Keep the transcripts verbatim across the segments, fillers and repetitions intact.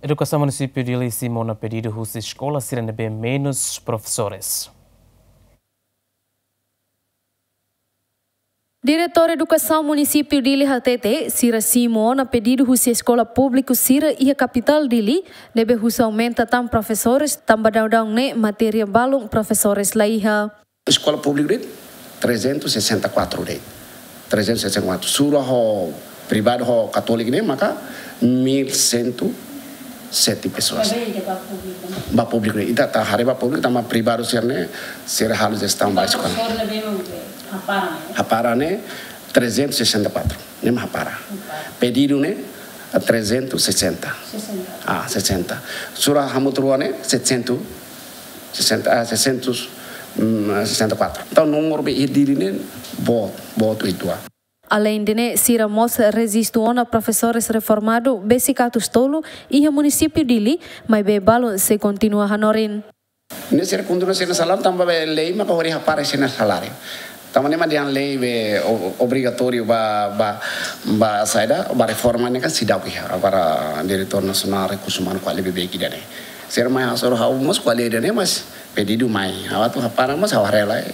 Edukasaun Munisípiu Dili simu ona pedidu husi eskola sira ne'ebé menus profesores. Diretór Edukasaun Munisípiu Dili hatete, sira simu ona pedidu husi eskola públiku sira iha kapitál Dili, ne'ebé husu aumenta tan profesores, tanba daudaun ne'e matéria balun profesores la iha. Eskola públiku de'it, trezentos e sessenta e quatro de'it. Trezentos e sessenta e quatro. Sura ho privadu ho katólika ne'e maka mil cento sete pessoas. Ba públiku ne'e. Ita atu haree ba públiku, tanba privadu sira ne'e, sira halo jestaun ba eskola. Profesór ne'ebé hapara ne'e? Hapara ne'e, trezentos e sessenta e quatro. Ne'e mak hapara. Hapara. Pedidu ne'e, trezentos e sessenta. Sessenta. Ah, sessenta. Sura hamutuk rua ne'e, setecentos, sessenta, ah, seiscentos, hum, sessenta e quatro. Entaun, númeru be iha Dili ne'e, boot, boot uitoan. Aleinde ne'e, sira mós rejistu ona profesores reformadu besik atus tolu iha Munisípiu Dili, maibé balun sei kontinua hanorin. Ne'e sira kontinua sira-nia saláriu, tanba be lei maka hodi hapara sira-nia saláriu. Tanba ne'e mak dehan lei be o-, obrigatóriu ba, ba, ba saida, ba reforma ne'e kan seidauk iha. Agora Diretór Nasionál Rekursu Umanu ko'alia beibeik ida-ne'e. Sira mai hasoru ha'u mós ko'alia ida-ne'e, mas pedidu mai. Ha'u atu hapara mós ha'u haree lai.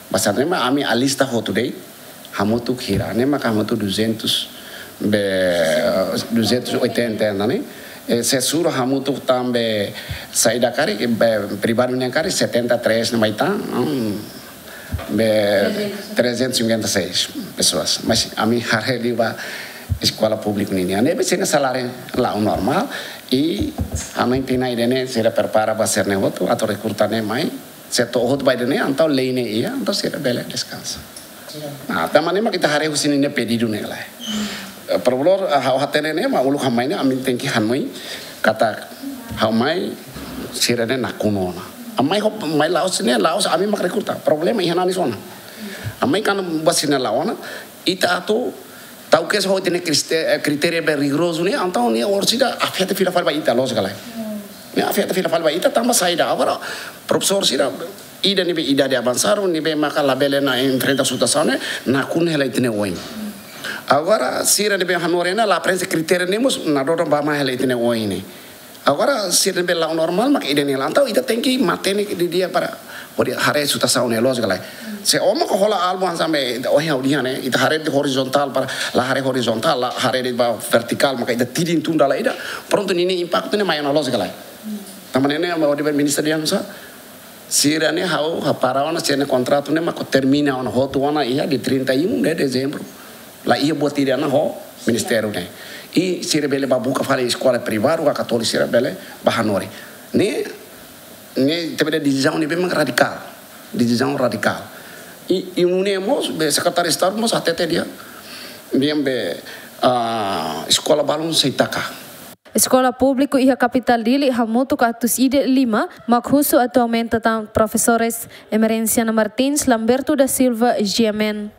Basá ne'e mak ami alista hotu de'it, hamutuk hira, ne'e maka hamutuk duzentos, be, duzentos e oitenta ne'e. E se sura hamutuk tan be saida karik, be, privadu nian karik, setenta e três ne'e mai tan, hmm, be, trezentos e cinquenta e seis pessoas. Mas ami haree liu ba eskola públiku ninian. Ne'ebé sira-nia saláriu la'o normál, i ami tenke ida-ne'e sira prepara ba sira-ne'e hotu, atu rekruta ne'e mai. Se to'o hotu ba ida-ne'e, entaun lei ne'e iha, entaun sira bele deskansa. Nah, tanba ne'e mak ita haree husi ninia pedidu ne'e lai. Eh, problema, eh, ha'u hatene ne'e mak uluk ha'u mai ne'e, ami tenke hanoin katak ha'u mai sira ne'e nakonu ona. Ami mai ho, mai la'o sira ne'e, la'ós ami mak rekruta. Problema iha nanis ona. Ami mai kan ba sira ne'e la'o ona, ita atu tau ke so ita-nia kriste-, eh, kritéria be rigorozu ne'e, entaun ne'e orsida afeta fila fali ba ita, loos ka lae. Ne'e afeta fila fali ba ita, tanba saida, agora profesór sira, ida ne'ebé idade avansadu, ne'ebé maka labele ona enfrenta situasaun ne'e, nakonu hela ita-nia oin. Agora, sira ne'ebé hanorin ona, la prenxe kritéria ne'e mós, nadodan ba mai hela ita-nia oin ne'e. Agora, sira ne'ebé la'o normál, maka ida-ne'e la. Entaun, ita tenke mantein ne'e didi'ak para hodi haree situasaun ne'e, loos ka lae. Se ó maka hola alvu hanesan be, ohin ha'u dehan ne'e, ita haree de'it horizontál para, la haree horizontál, la haree de'it ba vertikál, maka ita tidin tun dala ida, prontu ninia impaktu ne'e mai ona, loos ka lae. Tanba ne'e, ne'e, ha'u dehan ba ministra dehan sá, sira ne'e ha'u hapara ona, sira-nia kontratu ne'e maka termina ona, hotu ona iha dia trinta e um de dezembro. La iha buat ida ona ho ministériu ne'e. I sira bele bá buka fali eskola privadu ka katólika sira bele bá hanorin. Ne'e, ne'e ita bele desizaun ne'ebé mak radikál. Desizaun radikál. I, i nune'e mós, be sekretáriu Estadu mós hatete dehan, dehan be, ah, eskola balun sei taka. Eskola públiku iha kapitál Dili hamutuk atus ida lima, mak husu atu aumenta tan profesores. Emerenciana Martins, Lamberto da Silva, G M N.